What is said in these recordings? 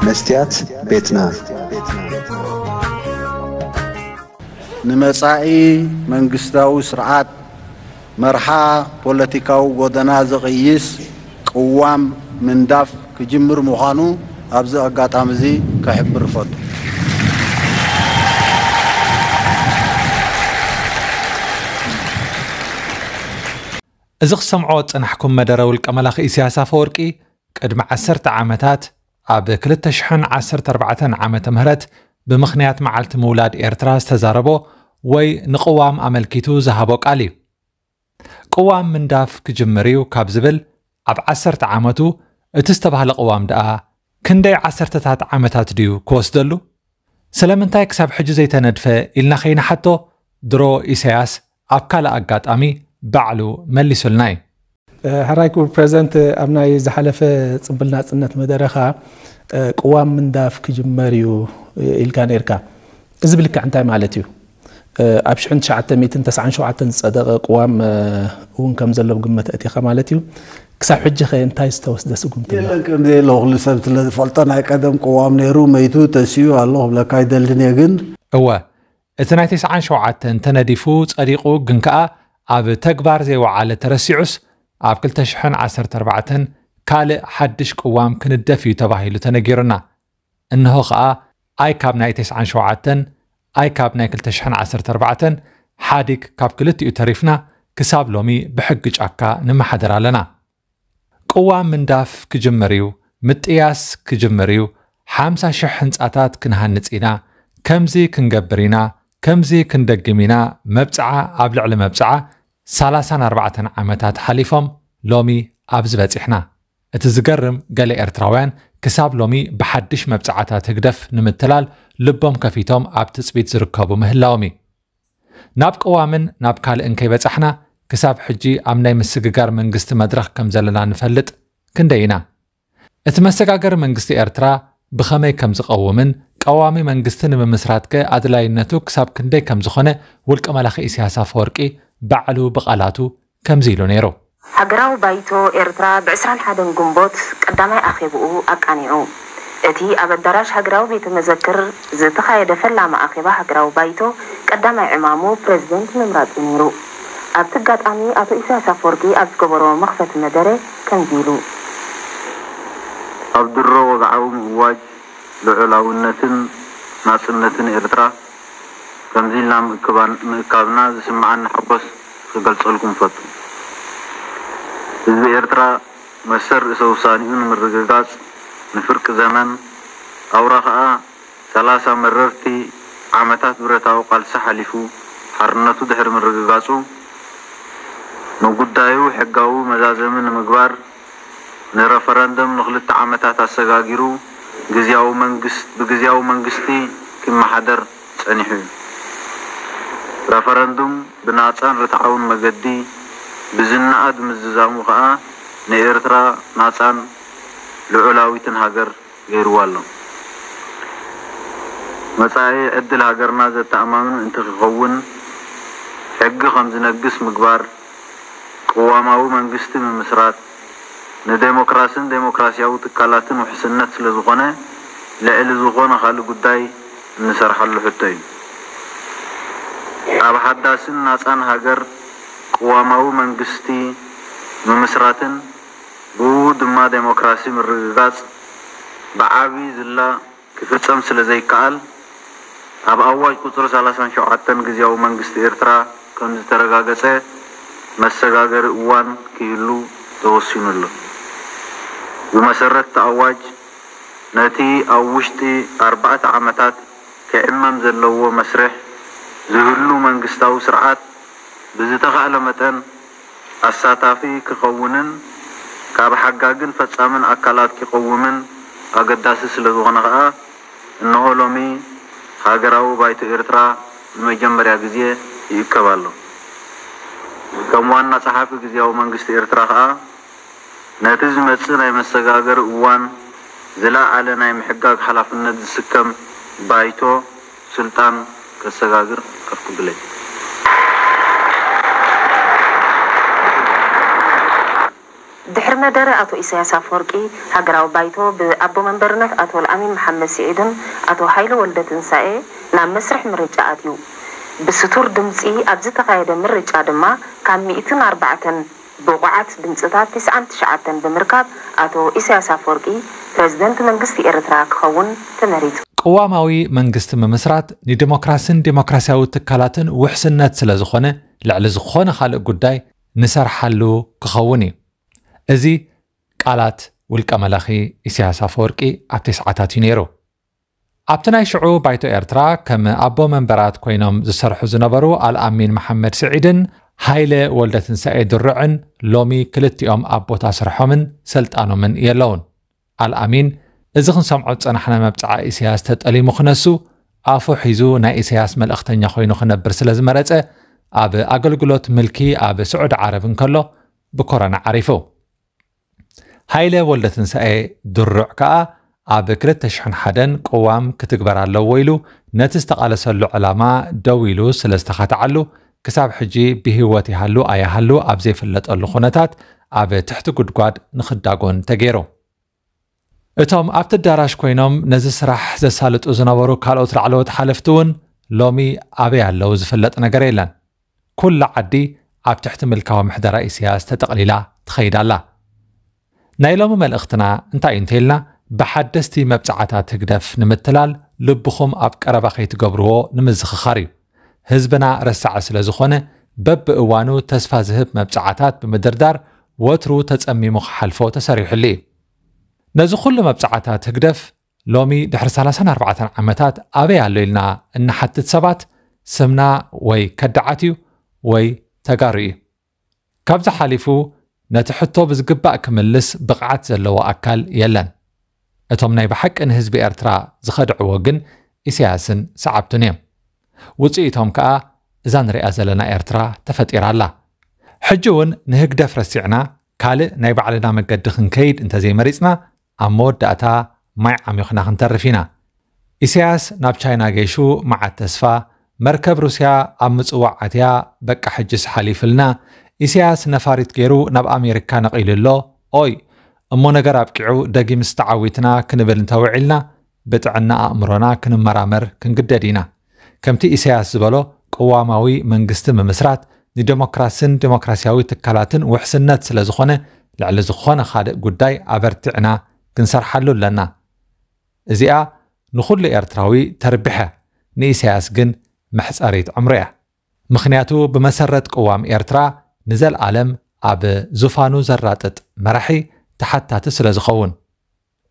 መስትያት ቤትና። ንመጻኢ መንግስታዊ ስርዓት መርሓ ፖለቲካዊ ጎደና ዝቕይስ ቅዋም ምንዳፍ ክጅምር ምዃኑ ኣብዚ ኣጋጣሚ እዚ ክሕብር እፈቱ። እዚ ክሰምዖ ዝጸናሕኩም መደረ ውልቀ መላኺ ኢሳያስ ኣፈወርቂ ቅድሚ ዓሰርተ ዓመታት ኣብ ክልተ ሽሕን ዓሰርተ ኣርባዕተን ዓመተ ምህረት ብምኽንያት መዓልቲ ምውላድ ኤርትራ ዝተዛረቦ ወይ ንቅዋም ኣመልኪቱ ዝሃቦ ቃል እዩ። ቅዋም ምንዳፍ ክጅምር እዩ ካብ ዝብል ኣብ ዓሰርተ ዓመቱ እቲ ዝተባህለ ቅዋም ደኣ ክንደይ ዓሰርተታት ዓመታት ድዩ ክወስደሉ? ስለምንታይ ክሳብ ሕጂ ዘይተነድፈ ኢልና ከይንሓቶ ድሮ ኢሳያስ ኣብ ካልእ ኣጋጣሚ ባዕሉ መሊሱልና እዩ። ሕራይ ክቡር ፕረዚደንት፣ ኣብ ናይ ዝሓለፈ ጽምብል ናጽነት መደረኻ ቅዋም ምንዳፍ ክጅመር እዩ ኢልካ ነርካ። እዚ ብልክዕ እንታይ ማለት እዩ? ኣብ ሽሕን ትሽዓተ ሚእትን ተስዓን ሸውዓተን ዝጸደቐ ቅዋም እውን ከም ዘሎ ብግምት ኣእቲኻ ማለት እዩ። ክሳብ ሕጂ ኸ እንታይ ዝተወስደ ስጉምቲ ኣሎ? የለን፣ ከም ዘየለ ኩሉ ሰብ ስለ ዝፈልጦ፣ ናይ ቀደም ቅዋም ነይሩ፣ መይቱ፣ ተሲኡ ኣሎ ክብለካ ኣይደልን እየ። ግን እወ፣ እቲ ናይ ተስዓን ሸውዓተን ተነዲፉ ጸዲቑ ግን ከኣ ኣብ ተግባር ዘይወዓለ ተረሲዑስ ኣብ ክልተ ሽሕን ዓሰርተ ኣርባዕተን ካልእ ሓድሽ ቅዋም ክንደፍ እዩ ተባሂሉ ተነጊሩና። እንሆ ከኣ ኣይ ካብ ናይ ተስዓን ሸውዓተን ኣይ ካብ ናይ ክልተ ሽሕን ዓሰርተ ኣርባዕተን ሓዲግ ካብ ክልቲኡ ተሪፍና ክሳብ ሎሚ ብሕጊ ጫካ ንመሓደር ኣለና። ቅዋም ምንዳፍ ክጅምር እዩ፣ ምጥያስ ክጅምር እዩ፣ ሓምሳ ሽሕ ህንጻታት ክንሃንጽ ኢና፣ ከምዚ ክንገብር ኢና፣ ከምዚ ክንደግም ኢና፣ መብጽዓ ኣብ ልዕሊ መብጽዓ ሰላሳን ኣርባዕተን ዓመታት ሓሊፎም ሎሚ ኣብዚ በጺሕና። እቲ ዝገርም ገለ ኤርትራውያን ክሳብ ሎሚ ብሓድሽ መብጽዓታት ህግደፍ ንምትላል ልቦም ከፊቶም ኣብ ትጽቢት ዝርከቡ ምህላዎም እዩ። ናብ ቅዋምን ናብ ካልእን ከይበጻሕና ክሳብ ሕጂ ኣብ ናይ ምስግጋር መንግስቲ መድረኽ ከም ዘለና ንፈልጥ ክንደይ ኢና። እቲ መሰጋገሪ መንግስቲ ኤርትራ ብኸመይ ከም ዝቐውምን ቀዋሚ መንግስቲ ንምምስራትከ ኣድላይነቱ ክሳብ ክንደይ ከም ዝኾነ ውልቀ መላኺ ኢሳያስ ኣፈወርቂ ባዕሉ ብቓላቱ ከምዚ ኢሉ ነይሩ። ሃገራዊ ባይቶ ኤርትራ ብ ዕስራን ሓደን ግንቦት ቀዳማይ ኣኼብኡ ኣቃኒዑ። እቲ ኣብ ኣዳራሽ ሃገራዊ ቤተ መዘክር ዝተኻየደ ፈላሚ ኣኼባ ሃገራዊ ባይቶ ቀዳማይ ዕማሙ ፕረዚደንት ምምራጽ እዩ ነይሩ። ኣብቲ ኣጋጣሚ ኣቶ ኢሳያስ ኣፈወርቂ ኣብ ዝገበሮ መኽፈቲ መደረ ከምዚ ኢሉ። ኣብ ድሮ ወግዓዊ ምእዋጅ ልዑላውነትን ናጽነትን ኤርትራ ከምዚ ኢልና ምእክባን-፣ ምእካብና ዝስምዓኒ ሓጎስ ክገልጸልኩም እፈቱ። ህዝቢ ኤርትራ መሰል ርእሰ ውሳኔኡ ንምርግጋጽ ንፍርቂ ዘመን፣ ኣውራ ከኣ ሰላሳ መረርቲ ዓመታት ብረታዊ ቃልሲ ሓሊፉ፣ ሓርነቱ ድሕሪ ምርግጋጹ፣ ንጉዳዩ ሕጋዊ መዛዘሚ ንምግባር፣ ንረፈረንደም ንኽልተ ዓመታት ኣሰጋጊሩ፣ ግዝያዊ መንግስ-፣ ብግዝያዊ መንግስቲ ክመሓደር ጸኒሑ እዩ። ረፈረንዱም ብናጻን ርትዓውን መገዲ ብዝናኣድ ምዝዛሙ ከኣ ንኤርትራ ናጻን ልዑላዊትን ሃገር ገይርዋ ኣሎ። መጻኢ ዕድል ሃገርና ዘተኣማምን እንትኽኸውን፣ ሕጊ ከም ዝነግስ ምግባር፣ ቅዋማዊ መንግስቲ ምምስራት፣ ንዴሞክራስን ዴሞክራስያዊ ትካላትን ውሕስነት ስለዝኾነ፣ ልዕሊ ዝኾነ ካልእ ጉዳይ እንሰርሓሉ ሕቶ እዩ። ኣብ ሓዳስን ናጻን ሃገር ቅዋማዊ መንግስቲ ምምስራትን ብኡ ድማ ዴሞክራሲ ምርግጋጽ ብዓቢ ዝላ ክፍጸም ስለ ዘይከኣል፣ ኣብ ኣዋጅ ቁጽሪ ሰላሳን ሸውዓተን ግዝያዊ መንግስቲ ኤርትራ ከም ዝተረጋገጸ መሰጋገሪ እዋን ክህሉ ተወሲኑ ኣሎ። ብመሰረት እቲ ኣዋጅ፣ ነቲ ኣብ ውሽጢ ኣርባዕተ ዓመታት ክዕመም ዘለዎ መስርሕ ዝህሉ መንግስታዊ ስርዓት ብዝተኻእለ መጠን ኣሳታፊ ክኸውንን ካብ ሓጋግን ፈጻምን ኣካላት ክቐውምን ኣገዳሲ ስለ ዝኾነ ከኣ፣ እንሆ ሎሚ ሃገራዊ ባይቶ ኤርትራ ንመጀመርያ ግዜ ይእከብ ኣሎ። ከም ዋና ጸሓፊ ግዝያዊ መንግስቲ ኤርትራ ከኣ፣ ነቲ ዝመጽእ ናይ መሰጋገሪ እዋን ዝለዓለ ናይ ምሕጋግ ሓላፍነት ዝስከም ባይቶ ስልጣን ከሰጋግር ከፍቅዱለይ። ድሕሪ መደረ ኣቶ ኢሳያስ ኣፈወርቂ፣ ሃገራዊ ባይቶ ብኣቦ መንበርነት ኣቶ ኣልኣሚን መሓመድ ስዒድን ኣቶ ሃይለ ወልደትንሳኤ ናብ መስርሕ ምርጫ ኣትዩ። ብስቱር ድምጺ ኣብ ዝተኻየደ ምርጫ ድማ ካብ ሚእትን ኣርባዕተን ብቑዓት ድምጽታት ተስዓን ትሽዓተን ብምርካብ ኣቶ ኢሳያስ ኣፈወርቂ ፕረዚደንት መንግስቲ ኤርትራ ክኸውን ተመሪጹ። ቅዋማዊ መንግስቲ ምምስራት ንዲሞክራስን ዲሞክራሲያዊ ትካላትን ውሕስነት ስለ ዝኾነ፣ ልዕሊ ዝኾነ ካልእ ጉዳይ ንሰርሓሉ ክኸውን እዩ። እዚ ቃላት ውልቀ መላኺ ኢሳያስ ኣፈወርቂ ኣብቲ ሰዓታት እዩ ነይሩ። ኣብቲ ናይ ሽዑ ባይቶ ኤርትራ ከም ኣቦ መንበራት ኮይኖም ዝሰርሑ ዝነበሩ ኣልኣሚን መሓመድ ስዒድን ሃይለ ወልደትንሳኤ ድሩዕን ሎሚ ክልቲኦም ኣብ ቦታ ስርሖምን ስልጣኖምን የለውን። ኣልኣሚን፣ እዚ ክንሰምዖ ዝጸናሕና መብጽዓ ኢሳያስ ተጠሊሙ ክነሱ፣ ኣፉ ሒዙ ናይ ኢሳያስ መልእኽተኛ ኮይኑ ክነብር ስለ ዝመረጸ፣ ኣብ ኣገልግሎት ምልኪ ኣብ ስዑዲ ዓረብ እንከሎ ብኮሮና ዓሪፉ። ሃይለ ወልደትንሳኤ ድሩዕ ከኣ ኣብ ክልተ ሽሕን ሓደን ቅዋም ክትግበር ኣለዎ ኢሉ ነቲ ዝተቓለሰሉ ዕላማ ደው ኢሉ ስለ ዝተኻትዓሉ፣ ክሳብ ሕጂ ብህይወት ይሃሉ ኣይሃሉ ኣብ ዘይፍለጠሉ ኩነታት ኣብ ትሕቲ ጉድጓድ ንኽዳጎን ተገይሩ። እቶም ኣብቲ ኣዳራሽ ኮይኖም ነዚ ስራሕ ዘሳልጡ ዝነበሩ ካልኦት ላዕለዎት ሓለፍቲ እውን ሎሚ ኣበይ ኣለዉ ዝፍለጥ ነገር የለን። ኩላ ዓዲ ኣብ ትሕቲ ምልካዊ ምሕደራ ኢሳያስ ተጠቕሊላ ትኸይድ ኣላ። ናይ ሎሚ መልእኽትና እንታይ እዩ እንተኢልና፣ ብሓደስቲ መብጽዓታት ህግደፍ ንምትላል ልብኹም ኣብ ቀረባ ከይትገብርዎ ንምዝኽኻር እዩ። ህዝብና ረሳዒ ስለ ዝኾነ፣ በብእዋኑ ተስፋ ዝህብ መብጽዓታት ብምድርዳር ወትሩ ተጸሚሙ ክሓልፎ ተሰሪሑሉ እዩ። ነዚ ኩሉ መብጽዓታት ህግደፍ ሎሚ ድሕሪ ሰላሳን ኣርባዕተን ዓመታት ኣበይ ኣሎ ኢልና እንሓትት ሰባት፣ ስምና ወይ ከዳዓት እዩ ወይ ተጋሩ እዩ። ካብዚ ሓሊፉ ነቲ ሕቶ ብዝግባእ ክምልስ ብቕዓት ዘለዎ ኣካል የለን። እቶም ናይ ብሓቂ ንህዝቢ ኤርትራ ዝኸድዕዎ ግን ኢሳያስን ሰዓብቱን እዮም። ውጽኢቶም ከኣ እዛ ንሪኣ ዘለና ኤርትራ ተፈጢራ ኣላ። ሕጂ እውን ንህግደፍ ረሲዕና ካልእ ናይ ባዕልና መገዲ ክንከይድ እንተዘይመሪጽና፣ ኣብ መወዳእታ ማይ ዓሚኹና ክንተርፍ ኢና። ኢሳያስ ናብ ቻይና ገይሹ መዓት ተስፋ፣ መርከብ ሩስያ ኣብ ምጽዋዕ ኣትያ፣ በቃ ሕጅስ ሓሊፍልና፣ ኢሳያስ ነፋሪት ገይሩ ናብ ኣሜሪካ ነቒሉ ኣሎ። ኦይ፣ እሞ ነገር ኣብቂዑ ደጊምስ ተዓዊትና ክንብል እንተውዒልና፣ ብጥዕና ኣእምሮና ክንመራመር ክንግደድ ኢና። ከምቲ ኢሳያስ ዝበሎ ቅዋማዊ መንግስቲ ምምስራት ንደሞክራስን ደሞክራሲያዊ ትካላትን ውሕስነት ስለ ዝኾነ፣ ልዕሊ ዝኾነ ካልእ ጉዳይ ኣበርቲዕና ክንሰርሓሉ ኣለና። እዚኣ ንኹሉ ኤርትራዊ ተርቢሐ፣ ንኢሳያስ ግን መሕጸሪት ዕምሩ እያ። ምኽንያቱ ብመሰረት ቅዋም ኤርትራ ንዘልኣለም ኣብ ዙፋኑ ዘራጥጥ መራሒ ተሓታቲ ስለ ዝኸውን።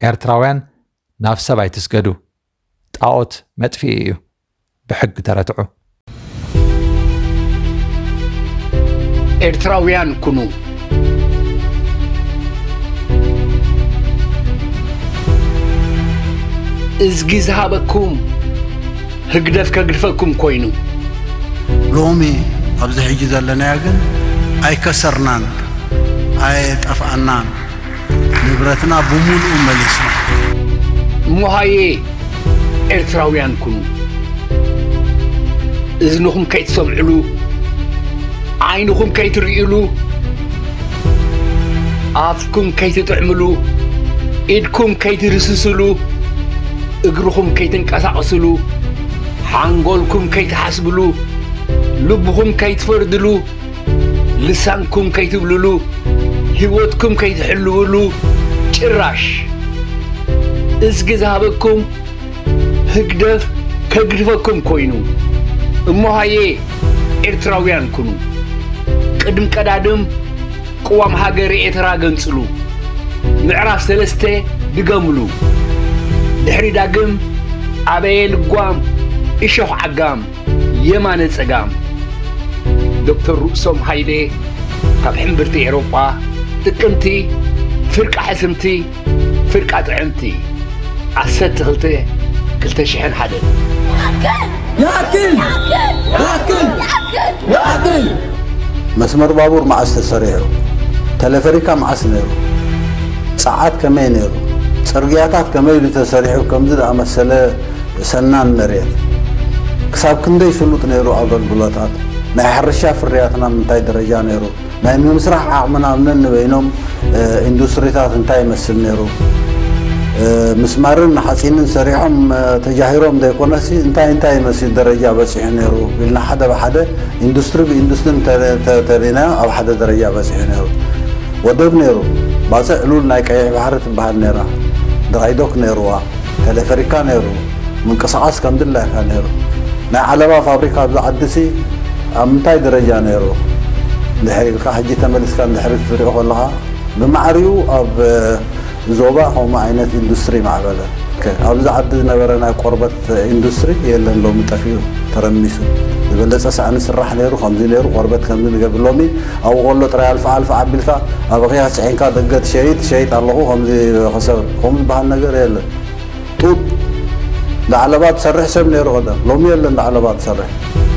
ኤርትራውያን ናብ ሰብ ኣይትስገዱ። ጣኦት መጥፍኢ እዩ። ብሕጊ ተረትዑ። ኤርትራውያን ኩኑ። እዝጊ ዝሃበኩም ህግደፍ ከግድፈኩም ኮይኑ። ሎሚ ኣብዚ ሕጂ ዘለናዮ ግን ኣይከሰርናን፣ ኣየጠፍኣናን፣ ንብረትና ብሙሉኡ መሊስና። እሞ ሃየ ኤርትራውያን ኩኑ። እዝንኹም ከይትሰምዕሉ፣ ዓይንኹም ከይትርእዩሉ፣ ኣፍኩም ከይትጥዕምሉ፣ ኢድኩም ከይትድስስሉ፣ እግርኹም ከይትንቀሳቐስሉ፣ ሓንጎልኩም ከይትሓስብሉ፣ ልብኹም ከይትፈርድሉ፣ ልሳንኩም ከይትብልሉ፣ ህይወትኩም ከይትሕልውሉ፣ ጭራሽ እዝጊ ዝሃበኩም ህግደፍ ከግድፈኩም ኮይኑ። እሞ ሃየ ኤርትራውያን ኩኑ። ቅድም ቀዳድም ቅዋም ሃገር ኤርትራ ገንጽሉ። ምዕራፍ ሰለስተ ድገምሉ። ድሕሪ ዳግም ኣበየ ልጓም እሾኽ ዓጋም የማነ ጸጋም። ዶክተር ርእሶም ሃይለ ካብ ሕምብርቲ ኤሮጳ ጥቅምቲ ፍርቃ ሕስምቲ ፍርቃ ጥዕምቲ ዓሰርተ ክልተ ክልተ ሽሕን ሓደን። ይኣክል! ይኣክል! ይኣክል! መስመር ባቡር መዓስ ተሰሪሑ? ተለፈሪካ መዓስ ነይሩ? ጸዓት ከመይ ነይሩ? ጽርግያታት ከመይ ኢሉ ተሰሪሑ? ከምዚ ዝኣመሰለ ሰናን መሬት ክሳብ ክንደይ ስሉጥ ነይሩ? ኣገልግሎታት ናይ ሕርሻ ፍርያትና ምንታይ ደረጃ ነይሩ? ናይ ምምስራሕ ዓቕምና ኣብ ነንበይኖም ኢንዱስትሪታት እንታይ ይመስል ነይሩ፣ ምስማርን ሓፂንን ሰሪሖም ተጃሂሮም ዘይኮነሲ እንታይ እንታይ ይመስል ደረጃ በፂሑ ነይሩ ኢልና ሓደ ብሓደ ኢንዱስትሪ ብኢንዱስትሪ ተሪና ኣብ ሓደ ደረጃ በፂሑ ነይሩ። ወደብ ነይሩ፣ ባፅዕ ሉል ናይ ቀይሕ ባሕሪ ትበሃል ነይራ፣ ድራይዶክ ነይርዋ፣ ቴሌፈሪካ ነይሩ፣ ምንቅስቃስ ከም ድላይካ ነይሩ። ናይ ዓለባ ፋብሪካ ኣብዚ ዓዲ ሲ ኣብ ምንታይ ደረጃ ነይሩ? ድሕሪ ኢልካ ሕጂ ተመሊስካ እንድሕሪ ክትሪኦ ከለኻ ብማዕሪኡ ኣብ ዞባ ከምኡ ዓይነት ኢንዱስትሪ ማዕበለ። ኣብዚ ዓዲ ዝነበረ ናይ ቆርበት ኢንዱስትሪ የለን፣ ሎሚ ጠፊኡ ተረሚሱ። ዝበለፀ ሳእኒ ስራሕ ነይሩ፣ ከምዚ ነይሩ፣ ቆርበት ከምዚ ንገብር። ሎሚ ኣብኡ ከሎ ጥራይ ኣልፋ ኣልፋ ኣቢልካ ኣብ ኣኽያ ስዒንካ ደገ ትሸይጥ ሸይጥ ኣለኹ ከምዚ ክሰብ ከምኡ ዝበሃል ነገር የለን። ጡጥ ዳዕለባ ትሰርሕ ሰብ ነይሩ ቀደም፣ ሎሚ የለን ዳዕለባ ትሰርሕ።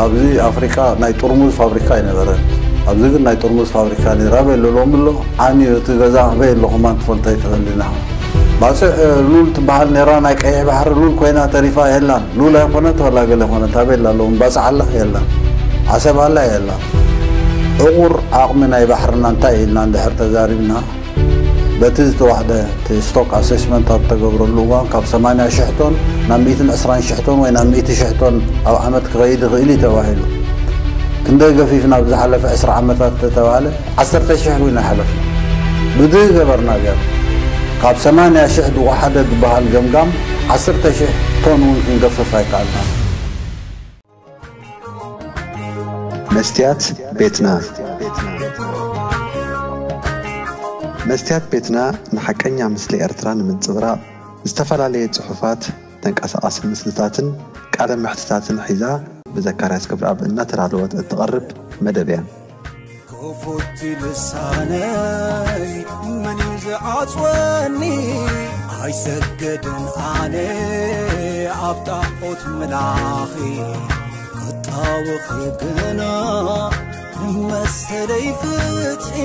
ኣብዚ ኣፍሪካ ናይ ጥርሙዝ ፋብሪካ ኣይነበረን። ኣብዚ ግን ናይ ጥርሙዝ ፋብሪካ ነይሩ። ኣበይ ኣሎ ሎሚ ኣሎ? ዓንዩ እቲ ገዛ ኣበይ ኣሎ ከማን ትፈልጦ ኣይትኽእልን ኢኻ። ባፅዕ ሉል ትበሃል ነይራ፣ ናይ ቀይሕ ባሕሪ ሉል ኮይና ተሪፋ የላን። ሉል ኣይኮነት ወላ ገለ ኮነት ኣበይ ኣላ ሎሚ? ባፅዕ ኣላ የላን። ዓሰብ ኣላ የላን። ዕቑር ዓቕሚ ናይ ባሕርና እንታይ ኢልና እንድሕር ተዛሪብና በቲ ዝተዋሕደ እቲ ስቶክ ኣሴስመንት ኣብ ተገብረሉ እዋን ካብ ሰማንያ ሽሕ ቶን ናብ ሚእትን ዕስራን ሽሕ ቶን ወይ ናብ ሚእቲ ሽሕ ቶን ኣብ ዓመት ክኸይድ ይኽእል እዩ ተባሂሉ። ክንደይ ገፊፍና ኣብ ዝሓለፈ ዕስራ ዓመታት ተተባህለ ዓሰርተ ሽሕ እውን ኣይሓለፍና። ብድህ ገበርና ገር ካብ ሰማንያ ሽሕ ዝወሓደ ዝበሃል ገምጋም ዓሰርተ ሽሕ ቶን እውን ክንገፍፍ ኣይከኣልናን። መስትያት ቤትና። መስትያት ቤትና ንሓቀኛ ምስሊ ኤርትራ ንምንጽብራቕ ዝተፈላለየ ጽሑፋት፣ ተንቀሳቓሲ ምስልታትን ቃለ መሕትታትን ሒዛ ብዘካርያስ ክብረኣብ እናተዳለወት እትቐርብ መደብ እያ። ክፉት ልሳነይ መን እዩ ዝዓጽወኒ? ኣይሰግድን ኣነ ኣብ ጣዖት ምላኺ፣ ክጣወኺ ግና ንመሰለይ ፍትሒ።